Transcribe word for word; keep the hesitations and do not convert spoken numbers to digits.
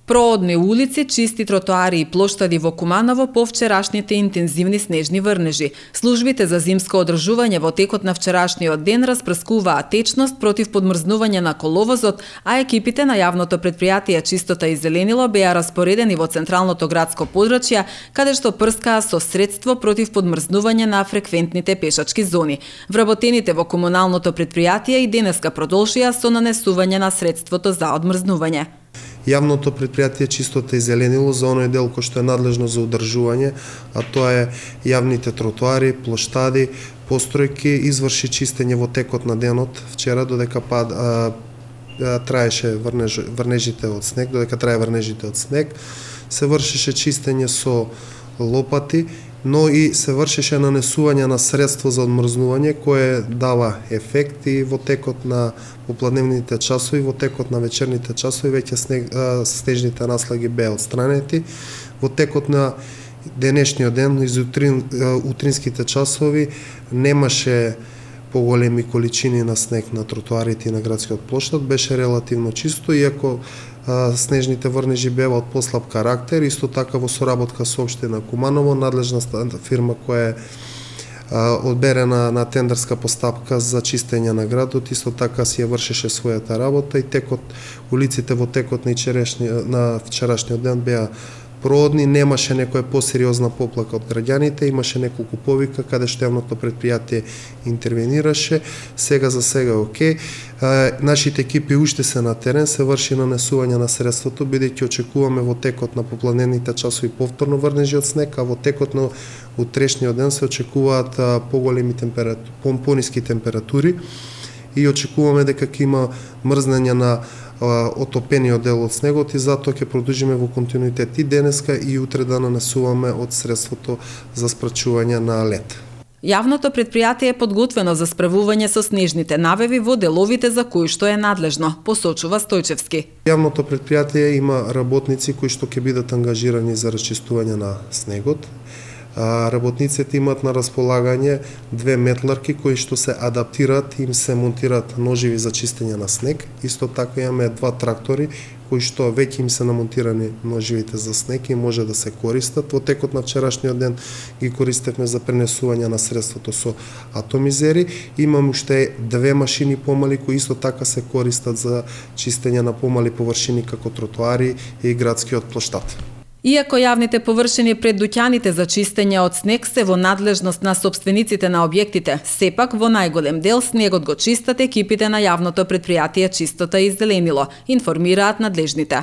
Проодни улици, чисти тротоари и плоштади во Куманово по вчерашните интензивни снежни врнежи. Службите за зимско одржување во текот на вчерашниот ден распрскуваат течност против подмрзнување на коловозот, а екипите на јавното претпријатие Чистота и зеленило беа распоредени во централното градско подрачје, каде што прскаа со средство против подмрзнување на фреквентните пешачки зони. Вработените во комуналното претпријатие и денеска продолжија со нанесување на средството за одмрзнување. Јавното претпријатие Чистота и зеленило за оној дел кој што е надлежно за одржување, а тоа е јавните тротоари, плоштади, постројки, изврши чистење во текот на денот вчера додека пад а, а, траеше врнеж, врнежите од снег, додека трае врнежите од снег, се вршеше чистење со лопати, но и се вршеше нанесување на средство за одмрзнување кое дава ефект и во текот на попладневните часови, во текот на вечерните часови веќе снег, снежните наслаги беа отстранети. Во текот на денешниот ден, из утрин, утринските часови, немаше поголеми количини на снег на тротоарите и на градскиот плоштад, беше релативно чисто, иако снежните врнежи беа од послаб карактер, исто така во соработка со општина Куманово, надлежна фирма која е одберена на тендерска постапка за чистење на градот, исто така си ја вршеше својата работа и текот улиците во текот на, на вчерашниот ден беа проодни, немаше некоја посериозна поплака од граѓаните, имаше неколку повика каде што јавното претпријатие интервенираше, сега за сега е окей. Нашите екипи уште се на терен, се врши нанесување на средството, бидејќи очекуваме во текот на попладневните часови повторно врнежи од снег, а во текот на утрешниот ден се очекуваат поголеми температури, пониски температури и очекуваме дека ќе има мрзнење на отопениот дел од снегот и затоа ќе продолжиме во континуитет и денеска и утре да нанесуваме од средството за спречување на лед. Јавното претпријатие е подготвено за справување со снежните навеви во деловите за кои што е надлежно, посочува Стојчевски. Јавното претпријатие има работници кои што ќе бидат ангажирани за расчистување на снегот. Работниците имаат на располагање две метларки кои што се адаптираат, им се монтираат ноживи за чистење на снег. Исто така имаме два трактори кои што веќе им се намонтирани ноживите за снег и може да се користат. Во текот на вчерашниот ден ги користевме за пренесување на средството со атомизери. Имам уште две машини помали кои исто така се користат за чистење на помали површини како тротоари и градскиот плоштад. Иако јавните површини пред дуќаните за чистење од снег се во надлежност на сопствениците на објектите, сепак во најголем дел снегот го чистат екипите на јавното претпријатие Чистота и зеленило, информираат надлежните.